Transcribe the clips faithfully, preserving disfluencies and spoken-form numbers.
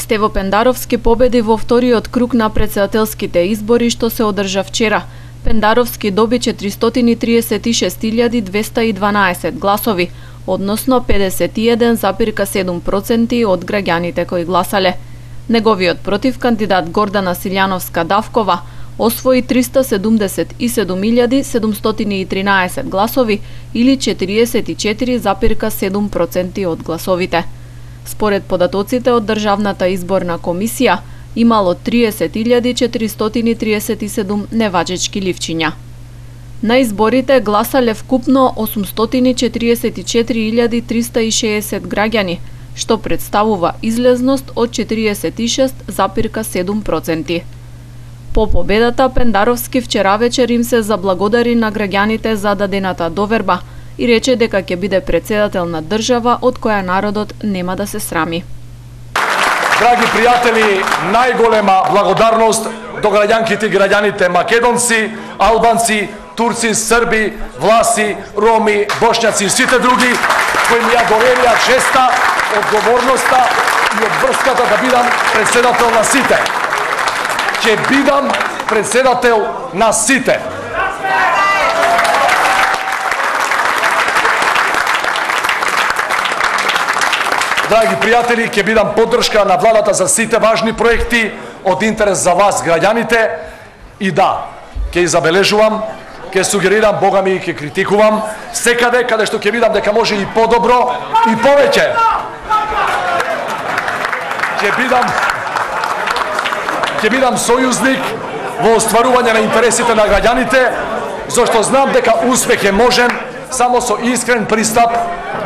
Стево Пендаровски победи во вториот круг на претседателските избори што се одржа вчера. Пендаровски доби четиристотини и триесет и шест илјади двеста и дванаесет гласови, односно педесет и еден запирка седум проценти од граѓаните кои гласале. Неговиот против кандидат Гордана Силјановска-Давкова освои триста седумдесет и седум илјади седумстотини и тринаесет гласови или четириесет и четири запирка седум проценти од гласовите. Според податоците од Државната изборна комисија, имало триесет илјади четиристотини триесет и седум неважечки ливчиња. На изборите гласале вкупно осумстотини четириесет и четири илјади триста и шеесет граѓани, што представува излезност од четириесет и шест запирка седум проценти. По победата, Пендаровски вчера вечер им се заблагодари на граѓаните за дадената доверба и рече дека ќе биде претседател на држава од која народот нема да се срами. Драги пријатели, најголема благодарност до граѓанките и граѓаните македонци, албанци, турци, срби, власи, роми, бошњаци и сите други кои ми ја доверија честа, одговорноста и обврската да бидам претседател на сите. Ќе бидам претседател на сите. Драги пријатели, ќе бидам поддршка на владата за сите важни проекти од интерес за вас, граѓаните, и да, ќе забележувам, ќе сугерирам, бога ми, ќе критикувам, секаде каде што ќе видам дека може и подобро и повеќе. Ќе бидам ќе бидам сојузник во остварување на интересите на граѓаните, зашто знам дека успех е можен само со искрен пристап,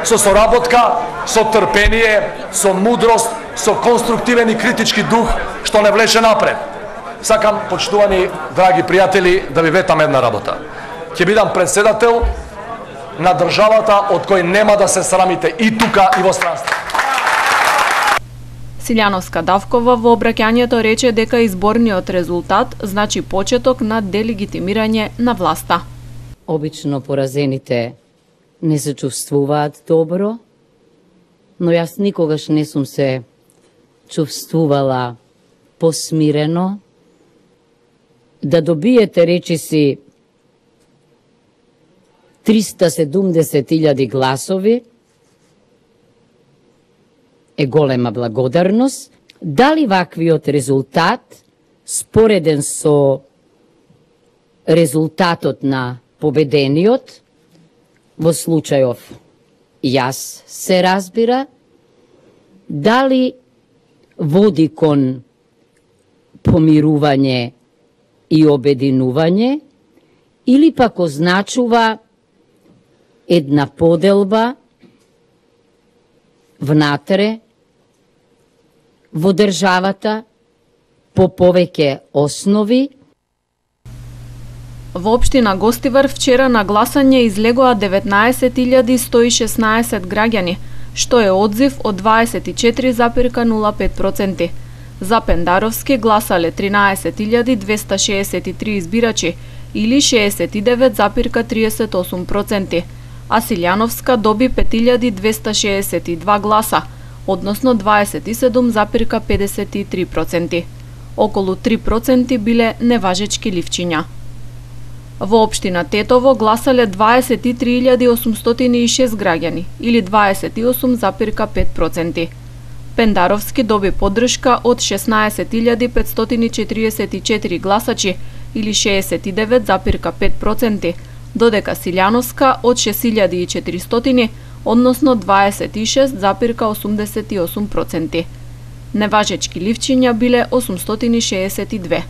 со соработка, со трпение, со мудрост, со конструктивен и критички дух што не влече напред. Сакам, почитувани драги пријатели, да ви ветам една работа. Ќе бидам претседател на државата од кој нема да се срамите и тука и во странство. Силјановска-Давкова во обраќањето рече дека изборниот резултат значи почеток на делегитимирање на власта. Обично поразените не се чувствуваат добро, но јас никогаш не сум се чувствувала посмирено. Да добиете речиси триста седумдесет илјади гласови е голема благодарност. Дали ваквиот резултат, спореден со резултатот на победениот, во случајов јас се разбира, дали води кон помирување и обединување, или пак означува една поделба внатре во државата по повеќе основи. Во општина Гостивар вчера на гласање излегоа деветнаесет илјади сто и шеснаесет граѓани, што е одзив од дваесет и четири запирка нула пет проценти. За Пендаровски гласале тринаесет илјади двеста шеесет и три избирачи или шеесет и девет запирка триесет и осум проценти, а Силјановска доби пет илјади двеста шеесет и два гласа, односно дваесет и седум запирка педесет и три проценти. Околу три проценти биле неважечки ливчиња. Во општина Тетово гласале дваесет и три илјади осумстотини и шест граѓани или дваесет и осум запирка пет проценти. Пендаровски доби поддршка од шеснаесет илјади петстотини четириесет и четири гласачи или шеесет и девет запирка пет проценти, додека Силјановска од шест илјади и четиристотини, односно дваесет и шест запирка осумдесет и осум проценти. Неважечки ливчиња биле осумстотини шеесет и две.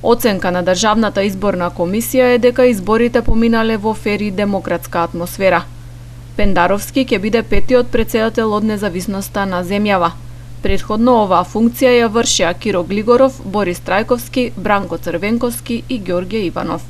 Оценка на Државната изборна комисија е дека изборите поминале во фер и демократска атмосфера. Пендаровски ќе биде петиот претседател од независноста на земјава. Претходно оваа функција ја вршеа Киро Глигоров, Борис Трајковски, Бранко Црвенковски и Ѓорѓе Иванов.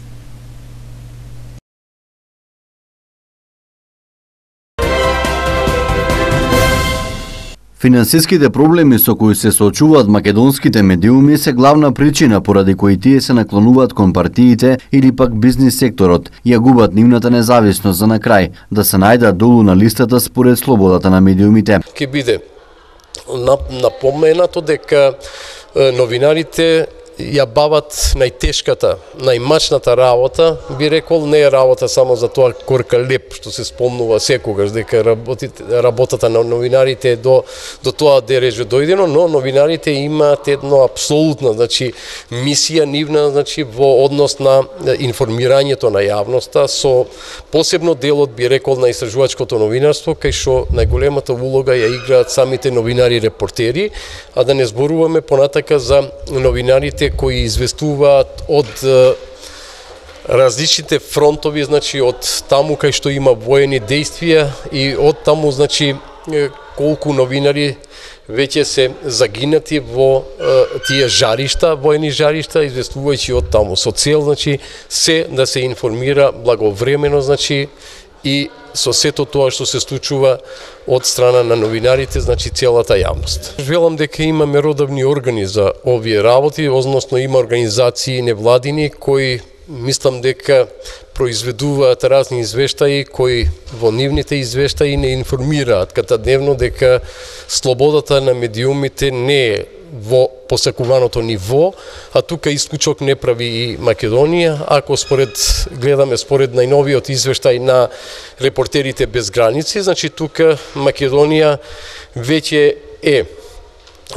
Финансиските проблеми со кои се соочуваат македонските медиуми се главна причина поради кои тие се наклонуваат кон партиите или пак бизнис секторот и ја губат нивната независност за на крај да се најдат долу на листата според слободата на медиумите. Ке биде напоменато дека новинарите ја бават најтешката, најмачната работа, би рекол, не е работа само за тоа корка леп, што се спомнува секогаш, дека работите, работата на новинарите е до, до тоа дереже дојдено, но новинарите имаат едно апсолутно, значи, мисија нивна, значи, во однос на информирањето на јавноста, со посебно делот, би рекол, на истражувачкото новинарство, кај што најголемата улога ја играат самите новинари-репортери, а да не зборуваме понатака за новинарите кои известуваат од различните фронтови, значи од таму кај што има воени действија и од таму, значи, колку новинари веќе се загинати во е, тие жаришта, воени жаришта, известувајќи од таму со цел, значи, се да се информира благовремено, значи, и со сето тоа што се случува од страна на новинарите, значи целата јавност. Велам дека имаме родовни органи за овие работи, односно има организации невладини кои мислам дека произведуваат разни извештаи кои во нивните извештаи не информираат катадневно дека слободата на медиумите не е во посакуваното ниво, а тука исклучок не прави и Македонија. Ако според гледаме според најновиот извештај на Репортерите без граници, значи тука Македонија веќе е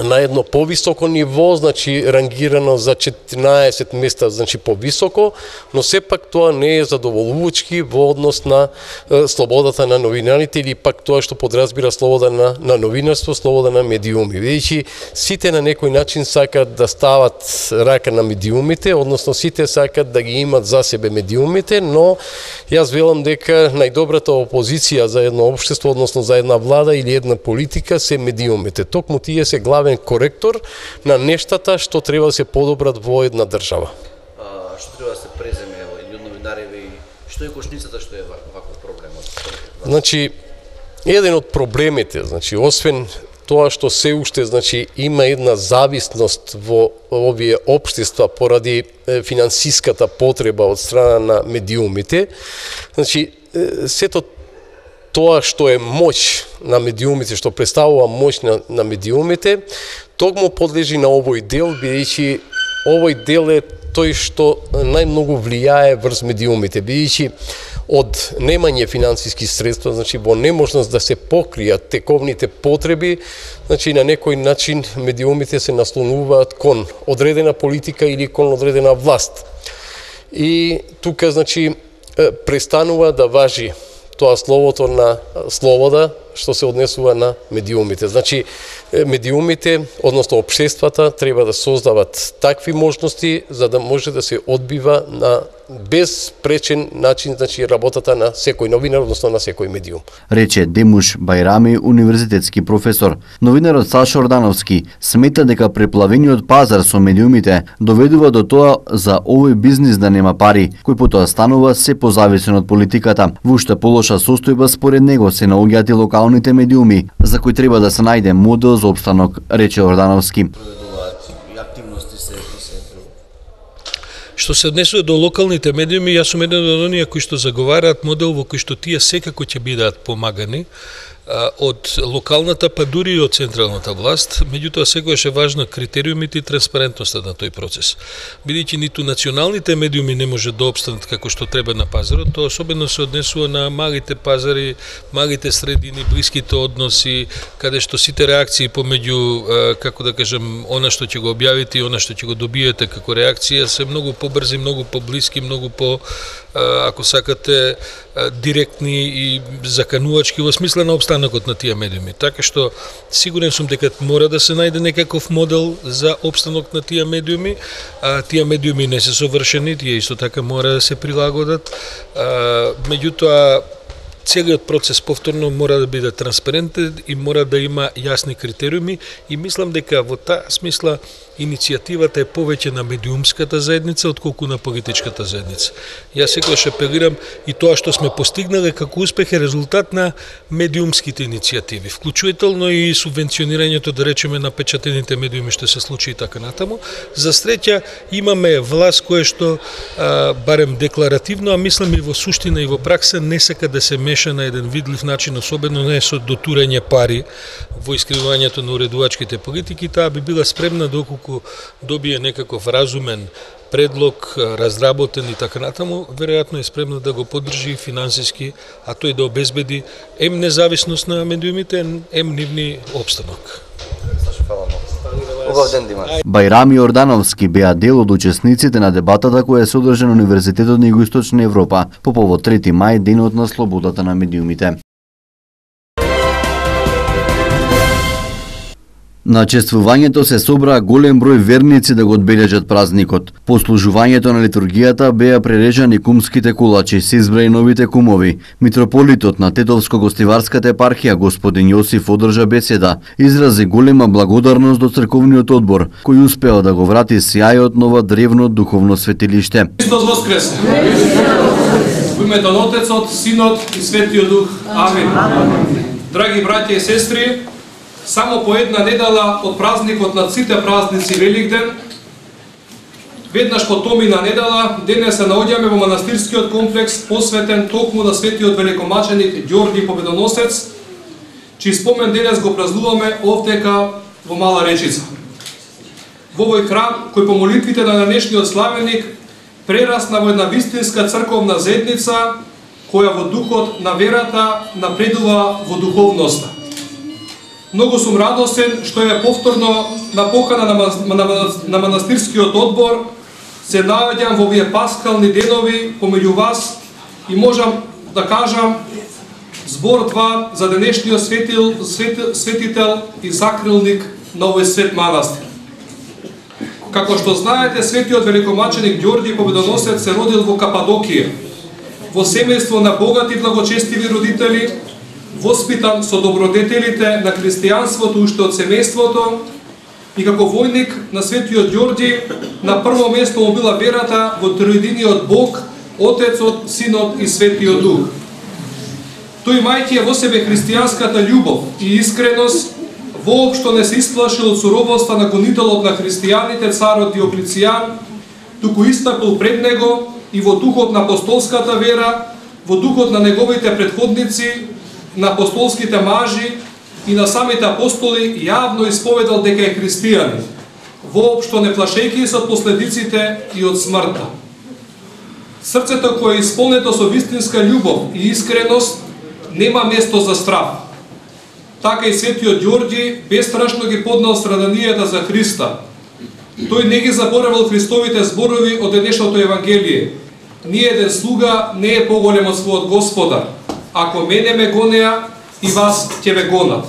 на едно повисоко ниво, значи рангирано за четинаесет места, значи повисоко, но сепак тоа не е задоволувачки во однос на е, слободата на новинарите или пак тоа што подразбира слобода на, на новинарство, слобода на медиуми. Видејќи сите на некој начин сакат да стават рака на медиумите, односно сите сакат да ги имат за себе медиумите, но јас велам дека најдобрата опозиција за едно општество, односно за една влада или една политика се медиумите. Токму тие се главен коректор на нештата што треба да се подобрат во една држава. А, што треба да се преземе и од новинариве и што е кошницата што е ваков проблемот? Значи, еден од проблемите, значи, освен тоа што се уште, значи, има една зависност во овие општества поради финансиската потреба од страна на медиумите, значи, сето тоа што е моќ на медиумите, што представува моќ на, на медиумите, токму подлежи на овој дел, бидејќи овој дел е тој што најмногу влијае врз медиумите, бидејќи од немање финансиски средства, значи во неможност да се покријат тековните потреби, значи на некој начин медиумите се наслонуваат кон одредена политика или кон одредена власт. И тука, значи, престанува да важи тоа словото на слобода што се однесува на медиумите. Значи, медиумите, односно општествата, треба да создават такви можности за да може да се одбива на безпречен начин, значи, работата на секој новинар, односно на секој медиум. Рече Демуш Бајрами, универзитетски професор. Новинарот Сашо Ордановски смета дека преплавениот пазар со медиумите доведува до тоа за овој бизнис да нема пари, кој потоа станува се позависен од политиката. Во уште полоша состојба според него се наоѓаат и локалните медиуми, за кои треба да се најде модел за опстанок, рече Ордановски. Што се однесува до локалните медиуми, јас сум еден од оние кои што заговараат модел во кој што тие секако ќе бидат помагани од локалната, па дури и од централната власт, меѓутоа секогаш е важно критериумите и транспарентноста на тој процес. Бидејќи ниту националните медиуми не може да опстанат како што треба на пазарот, тоа особено се однесува на малите пазари, малите средини, блиските односи, каде што сите реакции помеѓу, како да кажем, она што ќе го објавите и она што ќе го добиете како реакција се многу побрзи, многу поблиски, многу по, ако сакате, директни и заканувачки во смисла на обстанокот на тие медиуми. Така што сигурен сум дека мора да се најде некаков модел за обстанок на тие медиуми. А, тие медиуми не се совршени, тие исто така мора да се прилагодат. А, меѓутоа, целиот процес повторно мора да биде транспарентен и мора да има јасни критериуми и мислам дека во таа смисла иницијативата е повеќе на медиумската заедница отколку на политичката заедница. Јас секогаш апелирам и тоа што сме постигнале како успех е резултат на медиумските иницијативи, вклучително и субвенционирањето, да речеме, на печатените медиуми што се случи и така натаму. За среќа имаме власт која што а, барем декларативно, а мислам и во суштина и во пракса не сака да се меша на еден видлив начин, особено не со дотурање пари во искривувањето на уредувачките политики. Таа би била спремна доколку добие некаков разумен предлог, разработен и така натаму, веројатно е спремна да го поддржи финансиски, а тој да обезбеди ем независност на медиумите, ем нивни обстанок. Убав ден да имате. Бајрами Јордановски беа дел од учесниците на дебатата која се одржа на Универзитетот на Југоисточна Европа по повод трети мај, денот на слободата на медиумите. На чествувањето се собраа голем број верници да го одбележат празникот. По служувањето на литургијата беа прережани кумските кулачи, се избраи новите кумови. Митрополитот на Тетовско-гостиварската епархија господин Јосиф одржа беседа, изрази голема благодарност до црковниот одбор, кој успеа да го врати сјајот на ова древно духовно светилиште. Христос воскресе! Во името на Отецот, Синот и Светиот Дух. Амин. Драги браќа и сестри, само по една недела од празникот на сите празници Великден, веднаш по томина недела, денес се наоѓаме во манастирскиот комплекс посветен токму на светиот великомаченик Ѓорги Победоносец, чиј спомен денес го празнуваме овдека во Мала Речица. Во овој храм, кој по молитвите на денешниот славеник прерасна во една вистинска црковна заедница, која во духот на верата напредува во духовноста. Многу сум радосен што е повторно на покана на, на, на манастирскиот одбор се наоѓам во овие паскални денови помеѓу вас и можам да кажам збор два за денешниот светил, светил, светител и закрилник на овој свет манастир. Како што знаете, светиот великомаченик Ѓорги Победоносец се родил во Кападокија, во семејство на богати благочестиви родители, воспитан со добродетелите на христијанството уште од семејството и како војник на светиот Ѓорги на прво место му била верата во троединиот Бог, Отецот, Синот и Светиот Дух. Тој мајќи во себе христијанската љубов и искреност, воопшто не се исплашил од суровоста на гонителот на христијаните царот Диоклицијан, туку истакол пред него и во духот на апостолската вера, во духот на неговите предходници, на апостолските мажи и на самите апостоли јавно исповедал дека е христијанин, воопшто не плашејќи се од последиците и од смртта. Срцето кое е исполнето со вистинска љубов и искреност нема место за страв. Така и светиот Ѓорги бестрашно ги поднал страданијата за Христа. Тој не ги заборавал Христовите зборови од денешното Евангелие. Ниеден слуга не е поголем од својот Господар. Ако мене ме гонеа, и вас ќе ве гонат.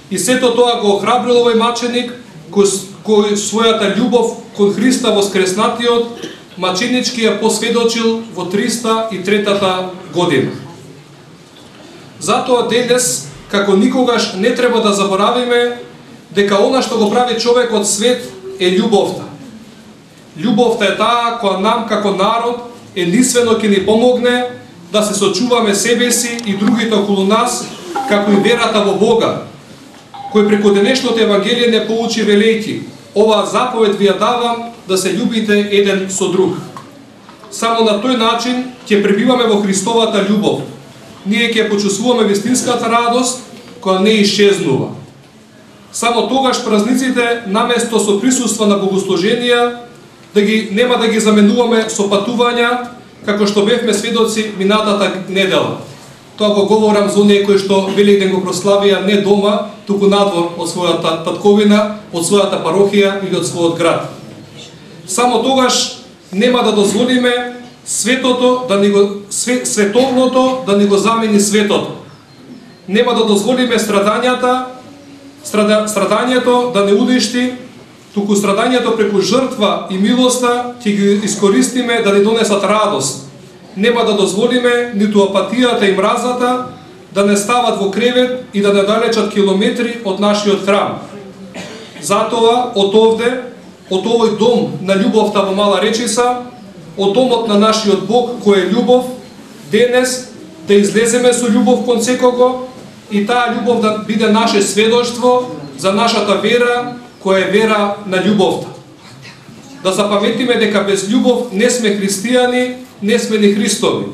И сето тоа го охрабрил овој маченик, кој, кој својата љубов кон Христа воскреснатиот, маченички ја посведочил во триста и третата година. Затоа денес, како никогаш, не треба да заборавиме дека она што го прави човекот свет е љубовта. Љубовта е таа која нам како народ единствено ќе ни помогне да се сочуваме себе си и другите околу нас, како и верата во Бога, кој преку денешното Евангелие не поучи велејки: оваа заповед ви ја давам, да се љубите еден со друг. Само на тој начин ќе пребиваме во Христовата љубов. Ние ќе почувствуваме вистинската радост која не исчезнува. Само тогаш празниците, наместо со присуство на богослуженија, да ги нема да ги заменуваме со патувања, како што бевме сведоци минатата недела. Тоа го говорам за оние кои што Великден го прославија не дома, туку надвор од својата татковина, од својата парохија или од својот град. Само тогаш нема да дозволиме светото да ни го световното да ни го замени светото. Нема да дозволиме страдањата, страда, страдањето да не уништи, туку страдањето преку жртва и милоста ќе ги искористиме да ни донесат радост. Нема да дозволиме ниту апатијата и мразата да не стават во кревет и да не далечат километри од нашиот храм. Затоа, од овде, од овој дом на љубовта во Мала Речица, од домот на нашиот Бог кој е љубов, денес да излеземе со љубов кон секого и таа љубов да биде наше сведоштво за нашата вера, која е вера на љубовта. Да запаметиме дека без љубов не сме христијани, не сме ни Христови,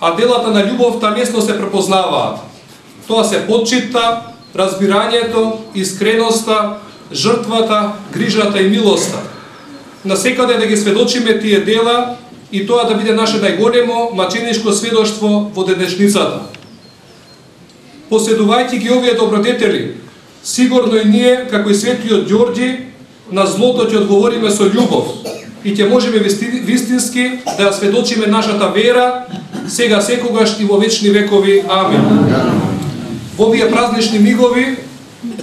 а делата на љубовта лесно се препознаваат. Тоа се почитта, разбирањето, искреноста, жртвата, грижата и милоста. Насекаде да ги сведочиме тие дела и тоа да биде наше најголемо маченишко сведоштво во денешницата. Поседувајќи ги овие добродетели, сигурно и ние, како и светиот Ѓорѓи, на злото ќе одговориме со љубов и ќе можеме вистински да ја сведочиме нашата вера, сега секогаш и во вечни векови. Амин. Во овие празнични мигови,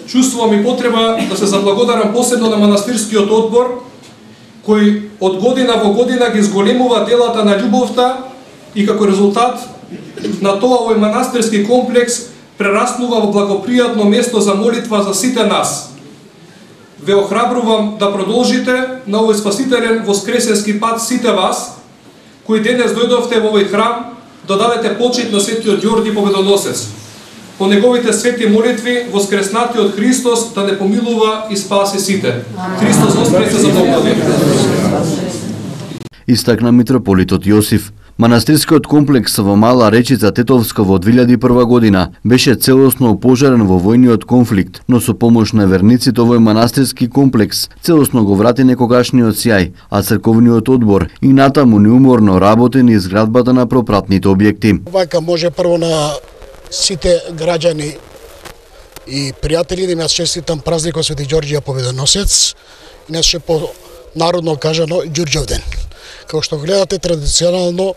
чувствувам и потреба да се заблагодарам посебно на манастирскиот одбор, кој од година во година ги зголемува делата на љубовта и како резултат на тоа овој манастирски комплекс прераснува во благопријатно место за молитва за сите нас. Ве охрабрувам да продолжите на овој спасителен воскресенски пат сите вас, кои денес дојдовте во овој храм да дадете почит на светиот Ѓорѓи Победоносец. По неговите свети молитви, воскреснатиот Христос да не помилува и спаси сите. Христос воскресе за благослови. Истакна митрополитот Јосиф. Манастирскиот комплекс во Мала Речица Тетовска во две илјади и прва година беше целосно опожарен во војниот конфликт, но со помош на верниците овој манастирски комплекс целосно го врати некогашниот сјај, а црковниот одбор и натаму неуморно работи на изградбата на пропратните објекти. Вака може прво на сите граѓани и пријатели да имаат честитам празникот Свети Ѓорѓија Победоносец, иначе по народно кажано Ѓурѓов ден. Како што гледате традиционално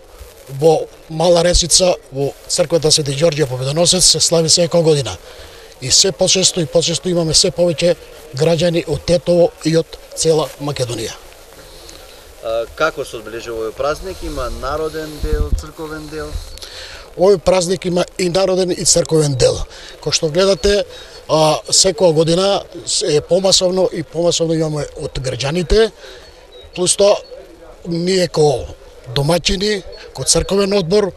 во Мала Речица, во црквата Свети Ѓорѓија Победоносец се слави секоја година. И се почесто и почесто имаме се повеќе граѓани од Тетово и од цела Македонија. А, како се одбележува овој празник? Има народен дел, црковен дел? Овој празник има и народен и црковен дел. Кој што гледате, а, секоја година е помасовно и помасовно имаме од граѓаните, плюс тоа ние ко домаќини, ко црковен одбор,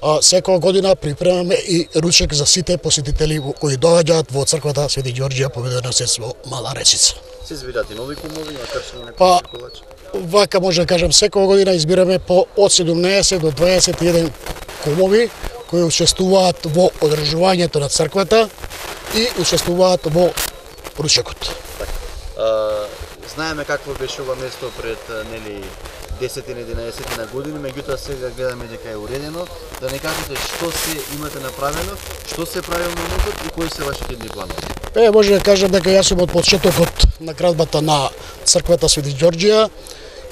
а, секоја година припремаме и ручек за сите посетители кои доаѓаат во црквата Свети Ѓорѓија Победоносец во Мала Речица. Се избирате нови кумови, макар што не па, вака може да кажам, секоја година избираме по од седумнаесет до дваесет и еден кумови кои учествуваат во одржувањето на црквата и учествуваат во ручекот. А, знаеме какво беше ова место пред нели десет-единаесет години, меѓутоа сега гледаме дека е уредено. Да не кажете што се имате направено, што се прави во моментот и кои се вашите идни планови? Е, може да кажам дека јас сум од почетокот на градбата на црквата Свети Ѓорѓија.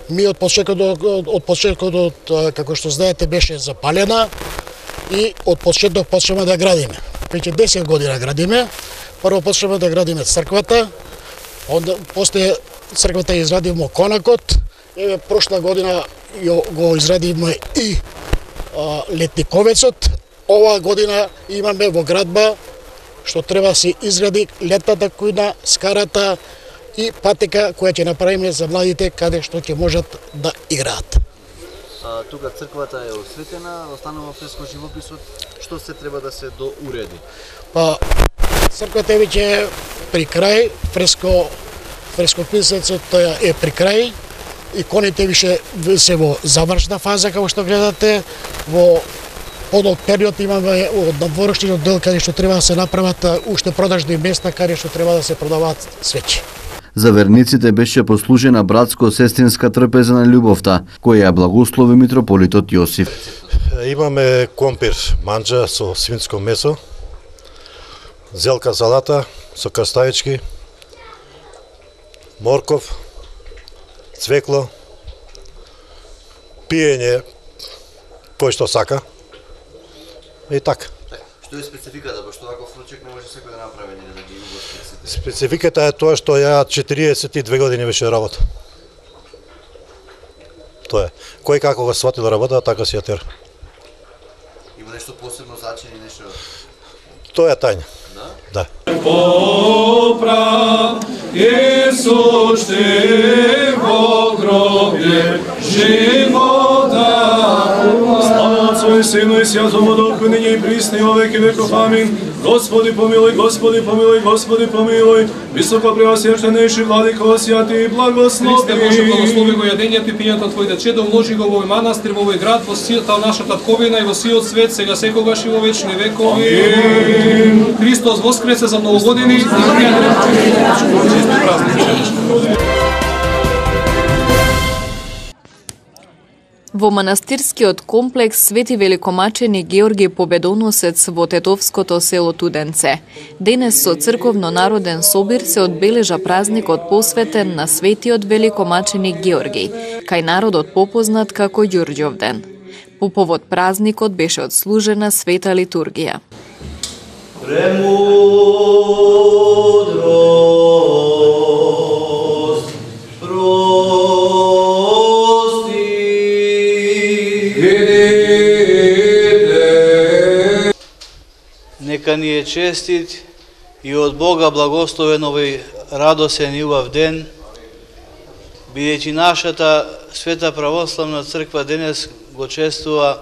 Ми од почетокот, од почетокот, како што знаете, беше запалена и од почеток почнеме да градиме. Веќе десет година градиме. Прво почнеме да градиме црквата, онда после црквата изградивме конакот. Еве прошла година го изградивме и а, летниковецот. Оваа година имаме во градба што треба да се изгради летната кујна, скарата и патека која ќе направиме за младите каде што ќе можат да играат. А, тука црквата е осветена, останува фреско живописот, што се треба да се доуреди? Па црквата е веќе при крај, фреско фрескописецот е при крај. Иконите више се во завршна фаза, како што гледате. Во подолг период имаме од надворешниот дел каде што треба да се направат уште продажни места каде што треба да се продаваат свеќи. За верниците беше послужена братско-сестринска трпеза на љубовта, која ја благослови митрополитот Јосиф. Имаме компир манџа со свинско месо, зелка салата со краставички, морков, цвекло, пиење кој што сака и така. Што е спецификата, пошто ваков ручек не може секој да направи или да ги угости сите? Спецификата е тоа што ја четириесет и две години беше работа. Тоа е. Кој како го сватил работа, така си ја тера. Има нешто посебно значење, нешто? Тоа е тајна. Да? Да. почти во гробе живота. Слава Отцу и Сину и Святому Духу, ныне и присно и во веки веков. Амин. Господи помилуй, Господи помилуй, Господи помилуй. Високо преосвященейши владико, святи и благослови. Христе Боже, благослови го јадењето и пињето Твоите чедо, вложи го во овој манастир, во овој град, во силата наша татковина и во сиот свет, сега секогаш и во вечни векови. Амин. Христос воскресе за многу години. Во манастирскиот комплекс Свети Великомачени Георги Победоносец во тетовското село Туденце. Денес со црковно-народен собир се одбележа празникот посветен на Светиот Великомачени Георги, кај народот попознат како Ѓурѓовден. По повод празникот беше одслужена света литургија. Премудрост, нека ни е честит и од Бога благословен овој радосен и убав ден, бидејќи нашата Света православна црква денес го чествува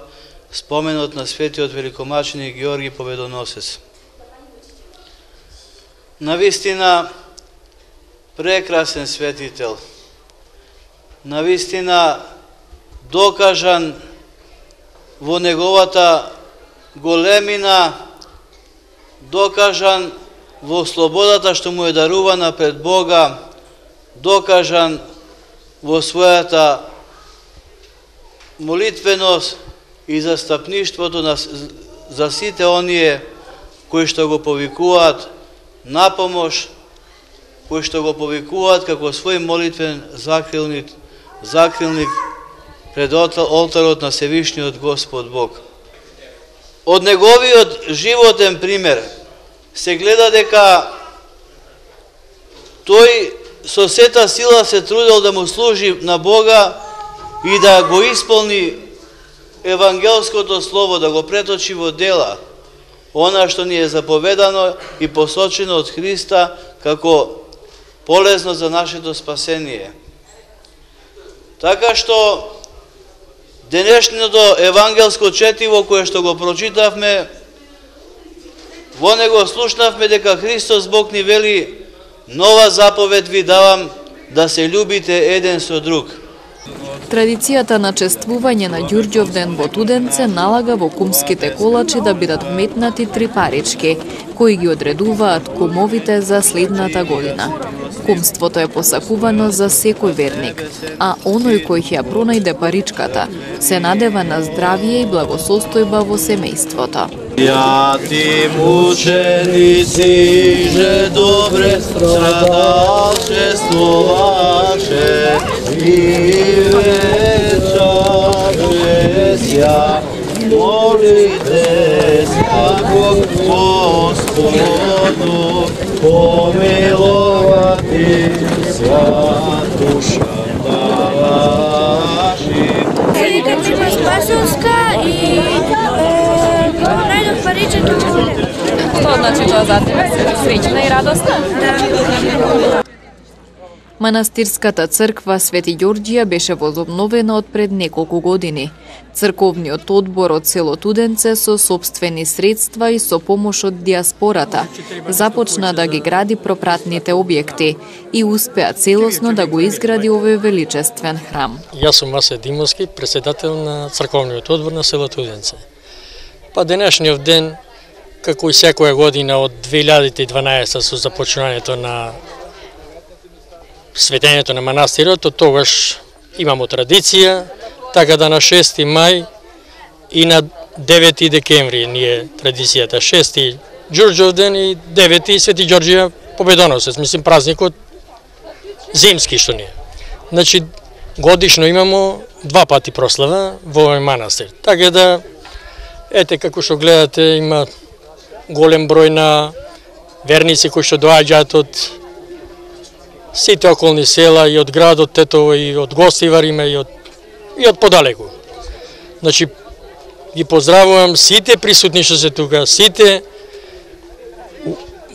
споменот на Светиот Великомачени Георги Победоносец. Навистина прекрасен светител, навистина докажан во неговата големина, докажан во слободата што му е дарувана пред Бога, докажан во својата молитвеност и застапништвото на, за сите оние кои што го повикуваат на помош, кои што го повикуваат како свој молитвен закрилник, закрилник пред олтарот на Севишниот Господ Бог. Од неговиот животен пример се гледа дека тој со сета сила се трудел да му служи на Бога и да го исполни евангелското слово, да го преточи во дела, она што ни е заповедано и посочено од Христа како полезно за нашето спасение. Така што денешното евангелско четиво кое што го прочитавме, во него слушнавме дека Христос Бог ни вели: нова заповед ви давам, да се љубите еден со друг. Традицијата на чествување на Ѓурѓовден во Туденце налага во кумските колачи да бидат вметнати три парички, кои ги одредуваат кумовите за следната година. Кумството е посакувано за секој верник, а оној кој ќе ја пронајде паричката се надева на здравие и благосостојба во семејството. Святи мученици же добре страдалчествуваше и вечаже ся, молите како Господу помиловати ся душа ваши. Великачина Спасовска и најдов паричето. Што значи тоа за тебе? Среќна и радосна? Да. Манастирската црква Свети Ѓорѓија беше возобновена од пред неколку години. Црковниот одбор од село Туденце со собствени средства и со помош од диаспората започна да ги гради пропратните објекти и успеа целосно да го изгради овој величествен храм. Јас сум Васе Димовски, председател на црковниот одбор на село Туденце. Па денешниот ден, како и секоја година од две илјади и дванаесета со започнувањето на светењето на манастирот, од тогаш имамо традиција, така да на шести мај и на девети декември ни е традицијата. шести Ѓурѓовден и девети Свети Ѓорѓија Победоносец, мислим празникот зимски што ни е. Значи годишно имамо два пати прослава во овој манастир. Така да ете како што гледате има голем број на верници кои што доаѓаат од сите околни села и од градот Тетово и од Гостивар има и од и од подалеку. Значи ги поздравувам сите присутни што се тука, сите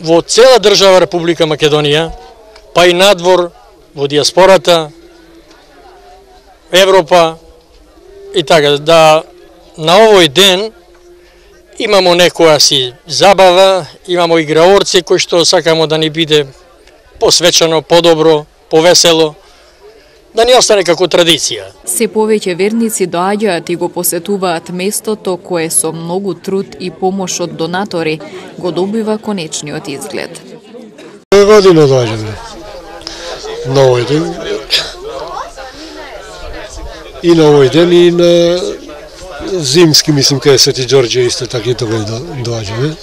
во цела држава Република Македонија, па и надвор во диаспората, Европа и така, да на овој ден имамо некоја си забава, имамо играорци кои што сакамо да ни биде посвечено, подобро, повесело, да ни остане како традиција. Се повеќе верници доаѓаат и го посетуваат местото кое со многу труд и помош од донатори го добива конечниот изглед. Година доаѓаме на овој ден. И на овој ден и на зимски, мислим, кај Свети Ѓорѓе исто така и тогаш доаѓаме.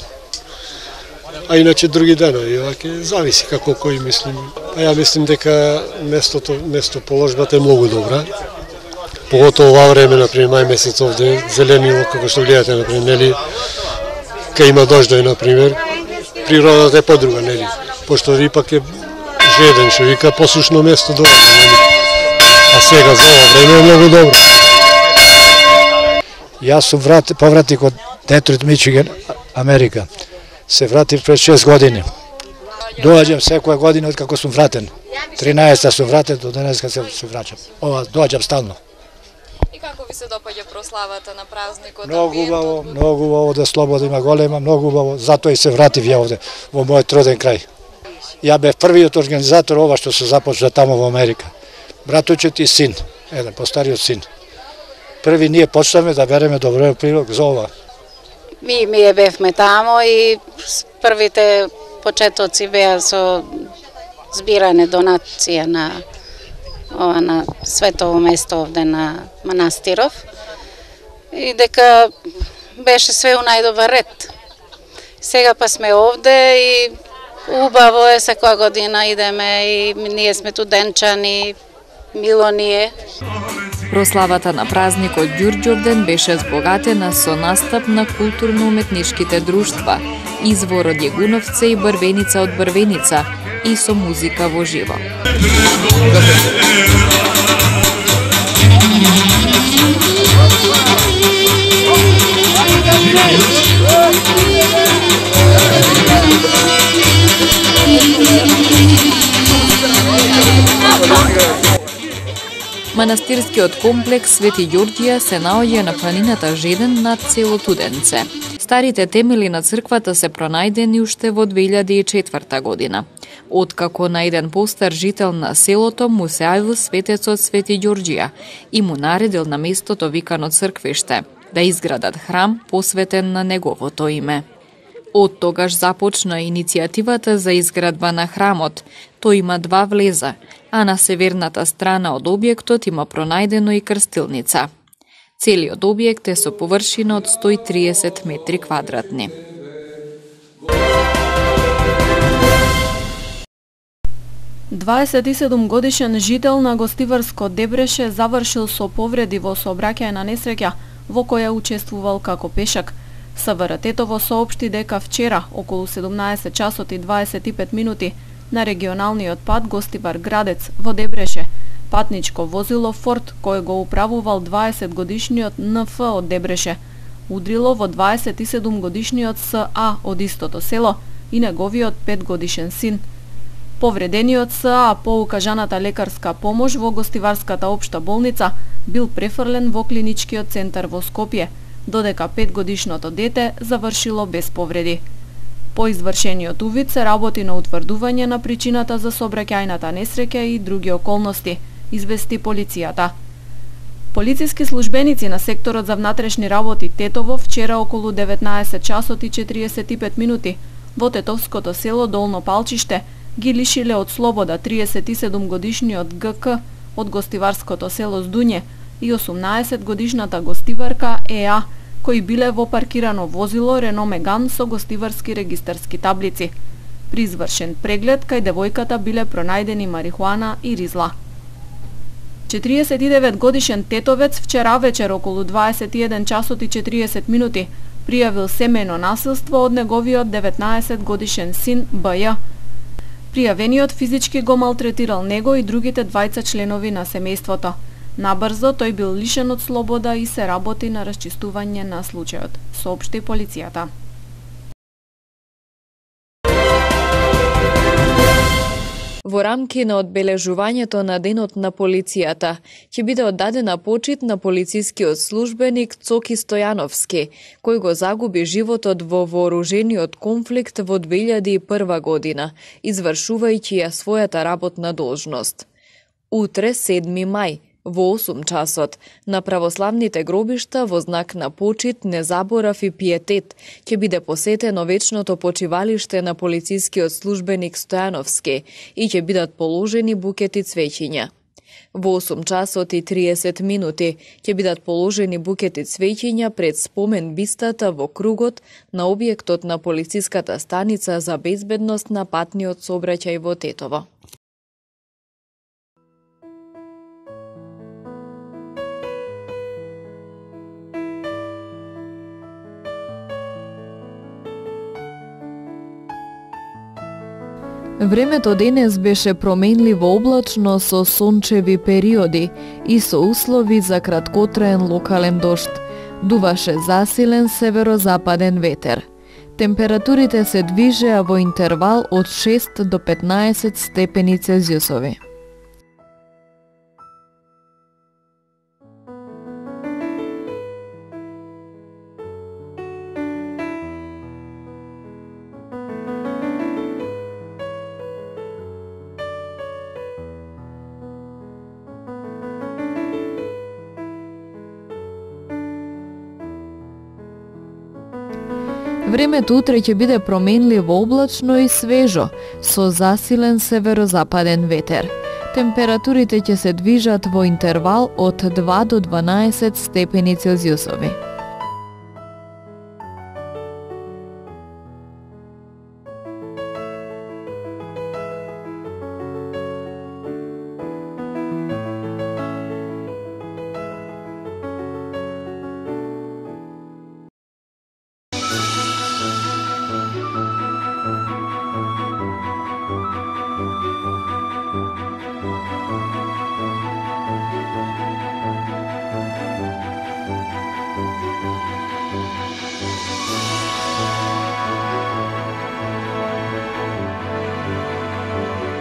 А иначе други денови, ваќе зависи како кој мислим. А ја мислим дека местото, место положбата е многу добра. Поготово ова време, например, мај месец овде, зеленило, како што гледате, например, нели, кај има дождој, например, природата е подруга, нели, пошто ипак е жеден, што вика, посушно место доаѓа, нели. А сега за ова време е многу добро. Јас сум врат, повратник од Детройт, Мичиген, Америка. Се вратив пред шест години. Доаѓам секоја година од како сум вратен. тринаесета сум вратен, до денеска се, се враќам. Ова, доаѓам стално. И како ви се допаѓа прославата на празникот? Многу убаво, многу убаво, да слобода има голема, многу убаво. Затоа и се вратив ја овде, во мојот роден крај. Ја бев првиот организатор ова што се започна тамо во Америка. Братучет и син, еден постариот син. Први ние почнаме да береме добро прилог за ова. Ми ми бевме тамо и првите почетоци беа со збиране донација на ова на светово место овде на манастиров. И дека беше све у најдобар ред. Сега па сме овде и убаво е, секоја година идеме и ние сме студенчани, мило ни е. Прославата на празникот Ѓурѓовден беше збогатена со настап на културно-уметничките друштва, извор од Јегуновце и Брвеница од Брвеница и со музика во живо. Манастирскиот комплекс Свети Ѓорѓија се наоѓа на планината Жеден над село Туденце. Старите темели на црквата се пронајдени уште во две илјади и четврта година. Откако на еден постар жител на селото му се јавил светецот Свети Ѓорѓија и му наредил на местото викано црквиште да изградат храм посветен на неговото име. Од тогаш започна иницијативата за изградба на храмот. Тој има два влеза, а на северната страна од објектот има пронајдено и крстилница. Целиот објект е со површина од сто и триесет метри квадратни. дваесет и седум годишен жител на гостиварско Дебреше завршил со повреди во сообраќајна несреќа во која учествувал како пешак. СВРТ-тово соопшти дека вчера, околу седумнаесет часот и дваесет и пет минути, на регионалниот пат Гостивар Градец во Дебреше, патничко возило Форд кој го управувал дваесет годишниот Н Ф од Дебреше, удрило во дваесет и седум годишниот С А од истото село и неговиот пет годишен син. Повредениот С А по укажаната лекарска помош во Гостиварската општа болница бил префрлен во клиничкиот центар во Скопје, додека петгодишното дете завршило без повреди. По извршениот увид се работи на утврдување на причината за сообраќајната несреќа и други околности, извести полицијата. Полициски службеници на секторот за внатрешни работи Тетово вчера околу деветнаесет часот и четириесет и пет минути во тетовското село Долно Палчиште ги лишиле од слобода триесет и седум годишниот Г К од гостиварското село Здуње и осумнаесет годишната гостиварка Е А, кои биле во паркирано возило Рено Меган со гостиварски регистарски таблици. При извршен преглед кај девојката биле пронајдени марихуана и ризла. четириесет и девет годишен тетовец вчера вечер околу дваесет и еден часот и четириесет минути пријавил семејно насилство од неговиот деветнаесет годишен син Б Ј. Пријавениот физички го малтретирал него и другите двајца членови на семејството. Набрзо тој бил лишен од слобода и се работи на расчистување на случајот, соопшти полицијата. Во рамки на одбележувањето на Денот на полицијата ќе биде оддадена почит на полицискиот службеник Цоки Стојановски, кој го загуби животот во вооружениот конфликт во две илјади и прва година, извршувајќи ја својата работна должност. Утре, седми мај, во осум часот, на православните гробишта во знак на почит, незаборав и пиетет, ќе биде посетено вечното почивалиште на полицискиот службеник Стојановски и ќе бидат положени букети цвеќиња. Во осум часот и триесет минути ќе бидат положени букети цвеќиња пред спомен бистата во кругот на објектот на полициската станица за безбедност на патниот сообраќај во Тетово. Времето денес беше променливо облачно со сончеви периоди и со услови за краткотраен локален дожд. Дуваше засилен северозападен ветер. Температурите се движеа во интервал од шест до петнаесет степени Целзиусови. Времето утре ќе биде променливо облачно и свежо, со засилен северозападен ветер. Температурите ќе се движат во интервал од два до дванаесет степени Целзиусови.